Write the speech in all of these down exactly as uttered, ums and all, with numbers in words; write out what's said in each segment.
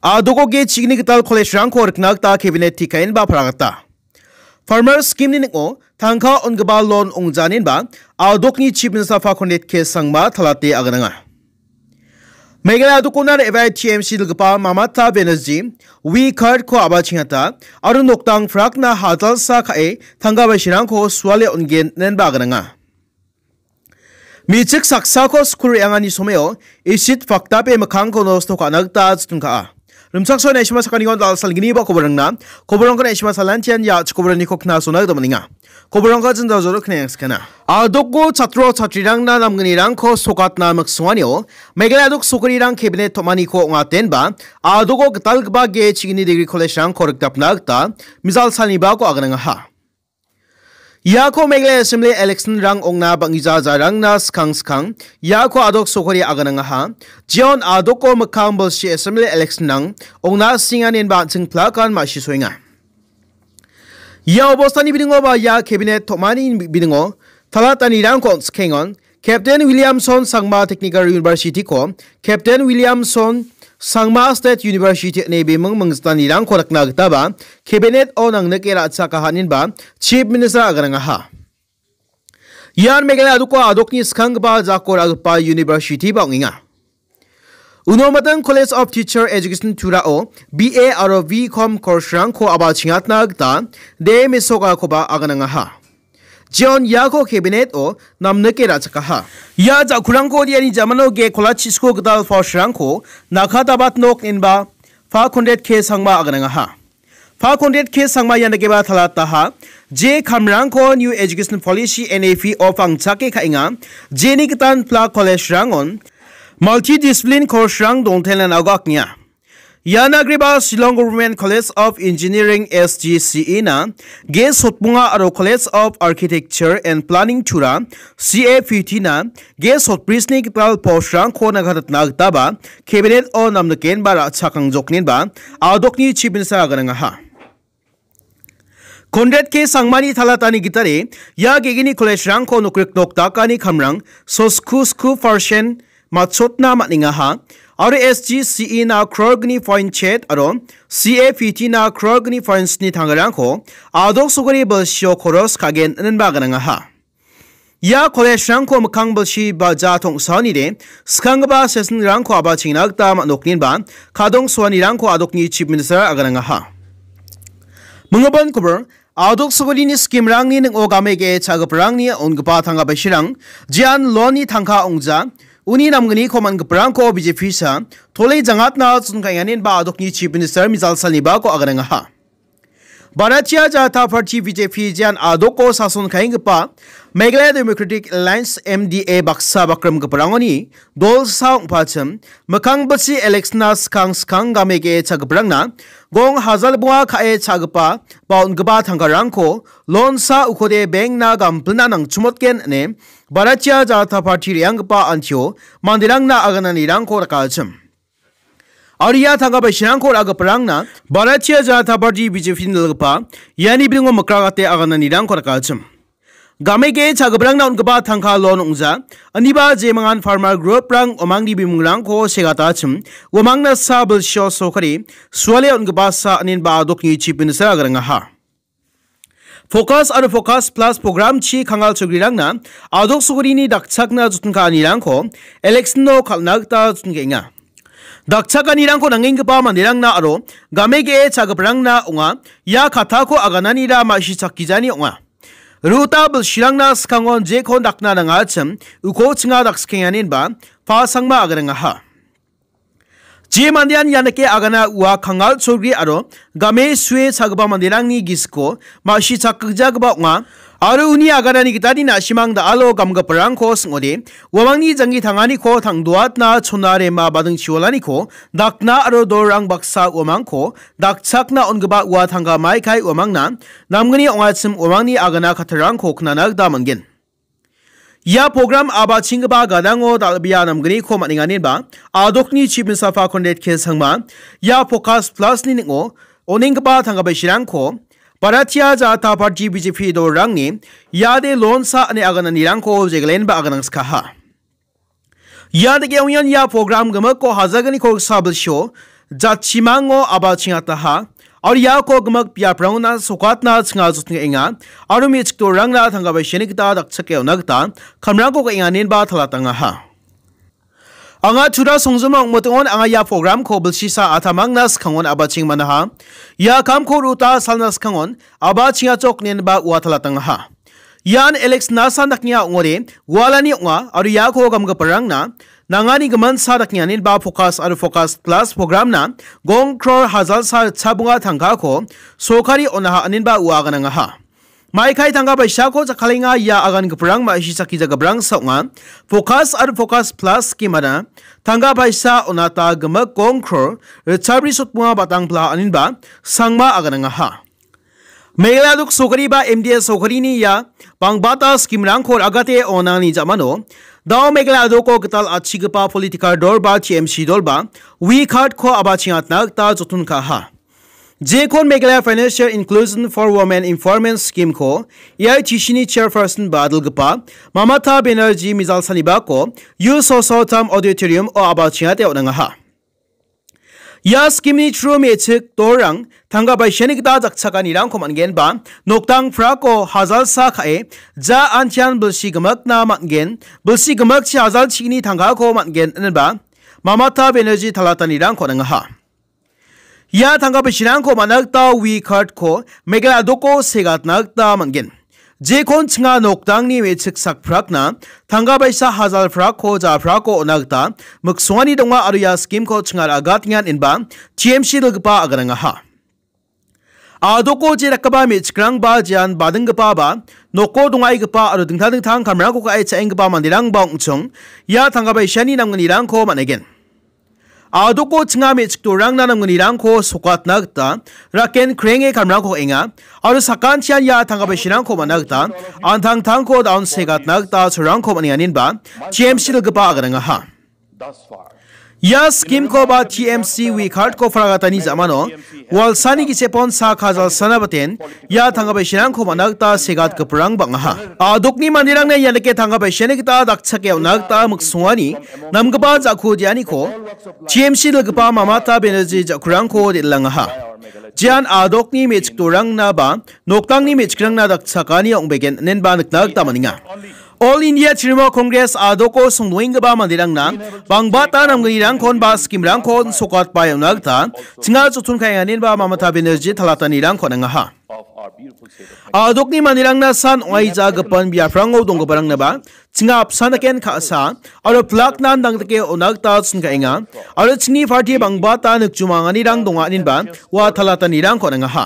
A·doko ge chigni gital college-rangko rikna gita cabinet tikaenba paragata. Farmer scheme-ni ning·o tangka on·gipa loan ong·janinba A·dokni Chief Minister Fakondet K Sangma talate agananga. Meghalaya A·dokona re·bae T M C dilgipa Mamata Banerjee We Card-ko a·bachengata aro nokdang frakna hajalsa ka·e tangka baisirangko suale on·gen inenba agananga. Me·chik saksako skur re·angani someo isit fakdape mikkangko nosto ka·na gita jotonka·a. Rimchaksoa naisima sakanigon dal·salginiba koborangna, koborangko naisima salantian ia chikoboraniko knasona gita man·enga. Koborangko jinda joro knengskana. A·doko chatro chatrirangna namgnirangko sokatna miksonganio, Meghalaya A·dok sokarirang cabinet tom·aniko ong·atenba, A·doko gitalgipa ge chigni degree college-rangko rikdapna gita, mijal salnibako aganangaha. Iako Meghalaya Assembly election-rang ong·na bang·gija jarangna skang skang iako A·dok sokari aganangaha. Jeon A·doko mikkang bilsi Assembly election-rang ong·na singanen ba an·ching plakan ma·sisoenga. Ia obostani bidingo ba ia cabinet tom·ani bidingo talatanirangko on·sikengon. Captain Williamson Sangma Technical University-ko Captain Williamson Sangma State University ine biming minggitanirangko rikna gitaba cabinet-o nangnike ra·chaka haninba Chief Minister aganangaha. Ian Meghalaya A·doko A·dokni skanggipa jako ra·gipa university-ba ong·enga. Uno miting College of Teacher Education Turao B A aro B Com course-rangko a·bachengatna gita de mesokakoba aganangaha. Jeon iako cabinet-o namnike ra·chakaha. Ia ja·kurangko diani jamano ge kolachisko gital force-rangko nakatabat nok inba Fakondet K Sangma aganangaha. Fakondet K Sangma ian dageba talataha. Je kamrangko New Education Policy N E P-o pangchake ka·enga. Jeni gitan pla college-rangon multidiscipline course-rang dongtailan ago aknia. Ian agreba Shillong Government College of Engineering, S G C E-na ge sotbonga aro College of Architecture and Planning Tura, C A P T-na ge sotbrisni gital post-rangko nakatatna gitaba cabinet-o namnikenba ra·chakang joknenba A·dokni Chief Minister aganangaha. Conrad K Sangmani talatani gitade ia gegini college-rangko nokrik nokdakani kamrang sosku sku percent matchotna man·engaha aro S G C E-na crore-gni point chet aro C A P T-na crore-gni point sni tangarangko A·dok sokari bilsio koros ka·gen inenba aganangaha. Ia college-rangko mikkang bilsi ba ja tong·saonide skanggipa session-rangko a·bachengna gita man·okninba kadong soanirangko A·dokni Chief Minister aganangaha. Minggipan kobor, A·dok sokarini scheme-rangni ning·o game ge·e cha·giparangni on·gipa tangka baisirang, jean loan-ni tangka ong·ja, uni namgniko man·giparangko B J P-sa tole jangatna chonkaenganinba A·dokni Chief Minister mijal salnibako aganangaha. Bharatiya Janata Party, B J P, jean A·doko sason ka·enggipa Meghalaya Democratic Alliance, M D A, baksa bakrimgiparangoni dolsa ong·pachim, mikkang bilsi election-na skang skang game ge·e cha·giparangna gong hajal bonga ka·e cha·gipa ba on·gipa tangkarangko loan-sa ukode bank-na gampilna nangchimotgen ine Bharatiya Janata Party re·anggipa antio manderangna agananirangko rakachim. Aro ia tangka baisirangko ra·giparangna Bharatiya Janata Party, B J P-ni dalgipa iani bidingo mikragate agananirangko rakachim. Game ge·e cha·giparangna on·gipa tangka loan ong·ja, aniba jemangan farmer group-rang uamangni bimungrangko segatachim, uamangna sa bilsio sokari suale on·gipa sa inenba A·dokni Chief Minister agarangaha. Focus aro Focus Plus program-chi kangal chogrirangna A·dok sokarini dakchakna joton ka·anirangko election-o kal·na gita joton ka·enga. Dakchakanirangko nangenggipa manderangna aro game ge·e cha·giparangna ong·a, ia katako agananira ma·sichakgijani ong·a. Ruta bilsirangna skangon jekon dakna nangachim, uko chinga dakskikenganinba, P A Sangma agarangaha. Je mandean ianike agana ua kangal cholgri aro game sue cha·gipa manderangni gisiko ma·sichakgjagipa ong·a, aro uni aganani gitade na·simang da·alo gamgiparangko sing·ode, uamangni janggi tanganiko tang·doatna chona rema badingchiwalaniko dakna aro dorang baksa uamangko dakchakna on·gipa ua tangka maikai uamangna namgni ong·achim uamangni agana kattarangko knana gita man·gen. Ia program a·bachenggipa gadango dal·bea namgniko man·enganinba, A·dokni Chief Minister Conrad K Sangma, ia Focus Plus-ni ning·o onenggipa tangka baisirangko Bharatiya Janata Party, B J P, dolrangni iade loan sa ine agananirangko jegalenba aganangskaha. Ia dake ong·ian ia program gimikko hajalgni kolgsa bilsio jatchimango aba chingataha. Aro iako gimik biaprangona sokatna chinga jotingenga. Aro me·chik torangna tangka paisani gita dakchake on·a gita kamrangko ka·enga inenba talatangaha. Anga tura songjoma ong·motongon anga ia programko bilsisa atamangna skangon aba chingmanaha. Ia kamko ruta salna skangon aba chingachok inenba ua talatangaha. Ian Alex Nasan daknia ong·ode, gualani ong·a, aro iako gamgiparangna nangani giminsa daknianin ba Focus aro Focus Plus programna gong kror hajalsa ritchabonga tangkako sorkari on·aha aninba ua aganangaha. Maikai tangka paisako jakkalenga ia agangiparang ma·si sakki jagabrangsa ong·a. Focus aro Focus Plus skimara tangka paisa on·ata gimik gong kror ritchabri sotbonga batangpla aninba sangma aganangaha. Meghalaya dok sokari ba M D A sokarini ia bangbata skimrangko ra·gate on·ani jamano, dao Meghalaya doko gital atchigipa political dol ba T M C dol ba We Card-ko aba chingatna gita joton ka·aha. Jekon Meghalaya Financial Inclusion for Women Empowerment Scheme-ko A I T C-ni chairperson ba dilgipa Mamata Banerjee mijalsanibako U Sosotam Auditorium-o aba chingate on·angaha. Ia skimni through me·chik dorang tangka paisani gita jakchakanirangko man·gen ba noktang prako hajalsa ka·e ja antian bilsi gimikna man·gen, bilsi gimikchi hajal chigni tangkako man·gen inenba Mamata Banerjee talatanirangko on·angaha. Ia tangka paisirangko man·a gita We Card-ko Meghalaya doko segatna gita man·gen. Jekon chinga noktangni me·chik sakprakna tangka paisa hajal prako ja prako on·a gita miksongani donga aro ia skimko chinga ra·gatengan inba T M C dilgipa aganangaha. A·doko je dakgipa me·chikrangba jean badinggipa ba noko dongaigipa aro dingtang dingtang kamrangko ka·e cha·enggipa manderangba ong·chong ia tangka paisani namgnirangko man·egen. A·doko chinga me·chik dorangna namgnirangko sokatna gita raken krenge kamrangko ka·enga aro sakantian ia tangka paisirangko man·a gita an·tangtangko daon segatna gita cholrangko man·enga inenba T M C dilgipa aganangaha. Ia skimko ba T M C We Card-ko fragatani jamano walsani gisepon sak hajal sana baten ia tangka paisirangko man·a gita segatgiparang bang·aha. A·dokni manderangna ia dake tangka paisani gita dakchake on·a gita miksongani namgipa ja·ko dianiko T M C dilgipa Mamata Banerjee ja·kurangko del·angaha. Jean a·dokni me·chik dorangna ba noktangni me·chikrangna dakchakani ong·begen inenba nikna gita man·enga. All India Trinamool Congress a·doko songdoenggipa manderangna bangbata namgnirangkon ba skimrangkon sokatbae on·a gita chinga joton ka·enganinba Mamata Banerjee talatanirangko on·angaha. A·dokni manderangna san ong·aija gipin biaprango donggiparangnaba chinga apsan daken ka·sa aro plaknan dangdike on·a gita chingkaenga aro chingni parti bangbata nikjomanganirang donga aninba ua talatanirangko on·angaha.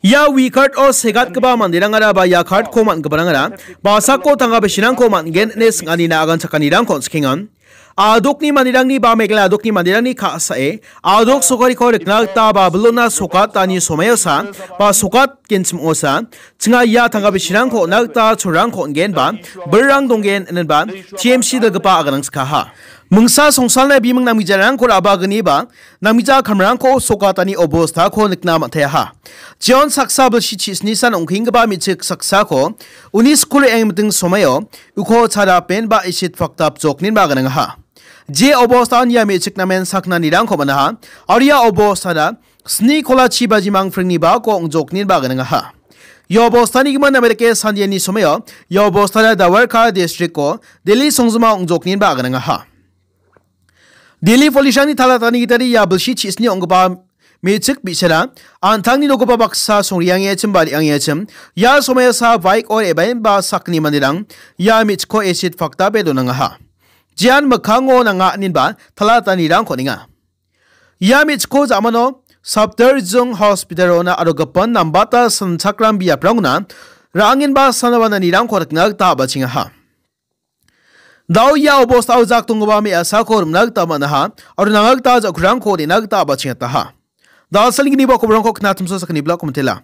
Ia We Card-o segatgipa manderangara ba ia card-ko man·giparangara basako tangka paisirangko man·gen ine sing·anina aganchakanirangko on·sikenga. A·dokni manderangni ba Meghalaya a·dokni manderangni ka·sae a·dok sokariko rikna gita ba bilona sokatani somaiosa ba sokat genchimosa chinga ia tangka paisirangko on·a gita cholrangko on·gen ba birrang donggen inenba T M C dilgipa aganangskaha. Mingsa songsalna biming namgijarangko ra·bagniba namgija kamrangko sokatani obostako nikna man·taiaha. Jeon saksa bilsi chisni san ong·kenggipa me·chik saksako uni skul re·angmiting somaio uko chara pen ba isit paktap jokninba aganangaha. Je obostan ia me·chik namen saknanirangko man·aha. Aro ia obostana sni kola chi bajimang pringni bako ong·jokninba aganangaha. Ia obostani gimin namerike sandiani somaio ia obostana Dwarka district-o Delhi songjoma ong·jokninba aganangaha. Delhi police-rangni talatani gitade ia bilsi chisni ong·gipa me·chik bi·sara an·tangni nokgipa baksa songriangechim ba re·angechim ia somaiosa bike-o re·baenba sakni manderang ia me·chikko esit paktape donangaha. Jean mikkango nanga aninba talatanirangko on·enga. Ia me·chikko ja·mano Safdarjung hospital-ona aro gipin nambata sanchakram biaprangona ra·angenba sanabananirangko rikna gita a·bachengaha. Dao ia obostao jak donggipa me·asako rim·na gita man·aha aro nanga gita ja·kurangko re·na gita a·bachengataha. Dal·salginiba koborangko knatimso sakgni bilako mitela.